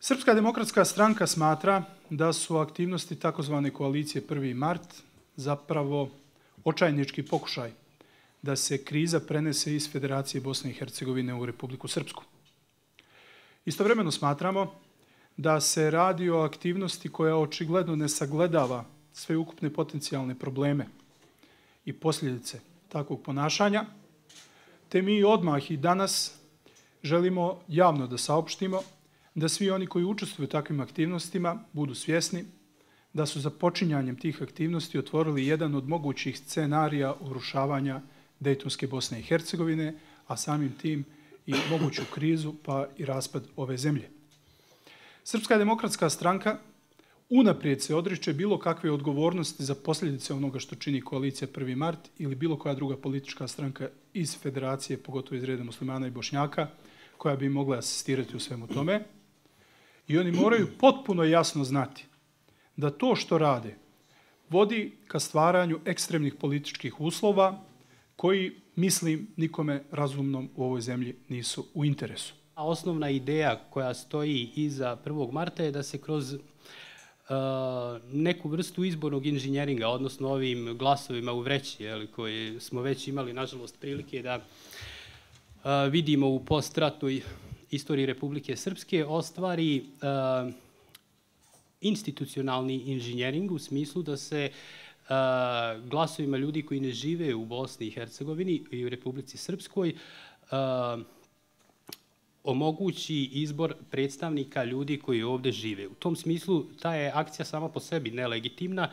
Srpska demokratska stranka smatra da su aktivnosti takozvane koalicije 1. mart zapravo očajnički pokušaj da se kriza prenese iz Federacije Bosne i Hercegovine u Republiku Srpsku. Istovremeno smatramo da se radi o aktivnosti koja očigledno ne sagledava sve ukupne potencijalne probleme i posljedice takvog ponašanja, te mi odmah i danas želimo javno da saopštimo da svi oni koji učestvuju u takvim aktivnostima budu svjesni da su za počinjanjem tih aktivnosti otvorili jedan od mogućih scenarija urušavanja Dejtonske Bosne i Hercegovine, a samim tim i moguću krizu pa i raspad ove zemlje. Srpska demokratska stranka unaprijed se odriče bilo kakve odgovornosti za posljedice onoga što čini koalicija 1. mart ili bilo koja druga politička stranka iz Federacije, pogotovo iz reda muslimana i Bošnjaka, koja bi mogla asistirati u svemu tome. I oni moraju potpuno jasno znati da to što rade vodi ka stvaranju ekstremnih političkih uslova koji, mislim, nikome razumnom u ovoj zemlji nisu u interesu. Osnovna ideja koja stoji iza 1. marta je da se kroz neku vrstu izbornog inženjeringa, odnosno ovim glasovima u vreći, koji smo već imali, nažalost, prilike da vidimo u postratnoj istoriji Republike Srpske, ostvari institucionalni inženjering u smislu da se glasovima ljudi koji ne žive u Bosni i Hercegovini i u Republici Srpskoj omogući izbor predstavnika ljudi koji ovdje žive. U tom smislu ta je akcija sama po sebi nelegitimna.